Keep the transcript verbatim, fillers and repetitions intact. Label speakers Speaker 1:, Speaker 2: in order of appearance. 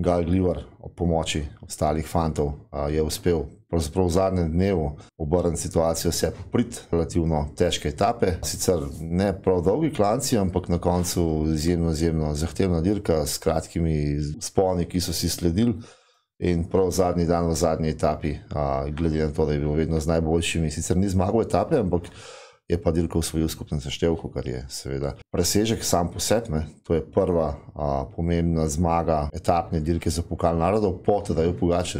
Speaker 1: Gal Glivar ob pomoči ostalih fantov je uspel pravzaprav v zadnjem dnevu obrniti situacijo, se popriti relativno težke etape. Sicer ne prav dolgi klanci, ampak na koncu izjemno, izjemno zahtevna dirka s kratkimi sponi, ki so si sledili. In prav zadnji dan v zadnji etapi, glede na to, da je bil vedno z najboljšimi, sicer ni zmagal etape, ampak je pa dirko osvojil skupnem seštevku, kar je seveda presežek sam po sebi. To je prva a, pomembna zmaga etapne dirke za Pokal narodov po Tadeju Pogačarju.